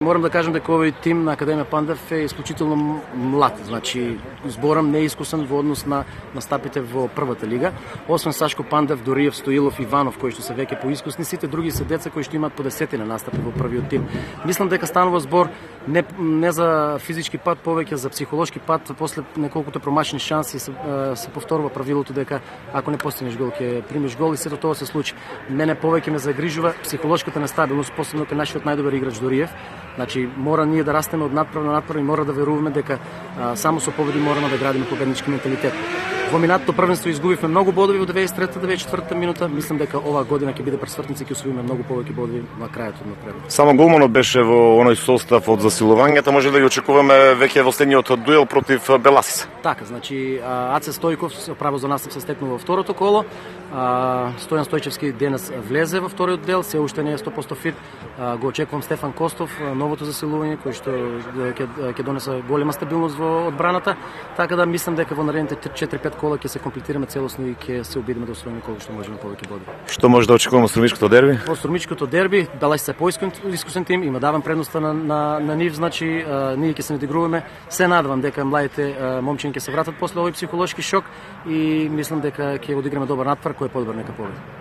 Морам да кажам дека овој тим на Академија Пандев е исклучително млад, значи зборам неискусен во однос на настапите во првата лига. Освен Сашко Пандев, Дориев, Стоилов, Иванов, кои што се веќе поискусни, сите други се деца кои што имаат по 10 настапи во првиот тим. Мислам дека станува збор не за физички пат, повеќе за психолошки пат. После неколкуто промашени шанси се повторува правилото дека ако не постигнеш гол ќе примиш гол и сето тоа се случи. Мене повеќе ме загрижува психолошката нестабилност, посебно кај нашиот најдобар играч Дориев. Значи мора ние да растеме од надправа на надправа и мора да веруваме дека само со победи мораме да градиме победнички менталитет. Во минатото првенство изгубивме многу бодови во 93-94 минута. Мислам дека оваа година ќе биде пресвртница и ќе освоиме многу повеќе бодови на крајот од напредот. Само голманот беше во оној состав од засилувањето, може да ги очекуваме веќе во следниот дуел против Беласис. Така, значи Аце Стојков право за настап се стекнува во второто коло. Стојан Стојчевски денес влезе во вториот дел, се уште не е 100% фит. Го очекувам Стефан Костов, новото засилување кој што ќе донесе голема стабилност во одбраната, така да мислам дека во наредните 4-5 кола ќе се комплетираме целосно и ќе се обидиме да освоиме колку што можеме повеќе боди. Што може да очекуваме во Струмичкото дерби? Во Струмичкото дерби Беласис се поискусен тим, има давам предноста на нив, значи ние ќе се надигруваме. Се надевам дека младите момчиња ќе се вратат после овој психолошки шок и мислам дека ќе одиграме добар натпор кој е подобар нека победи.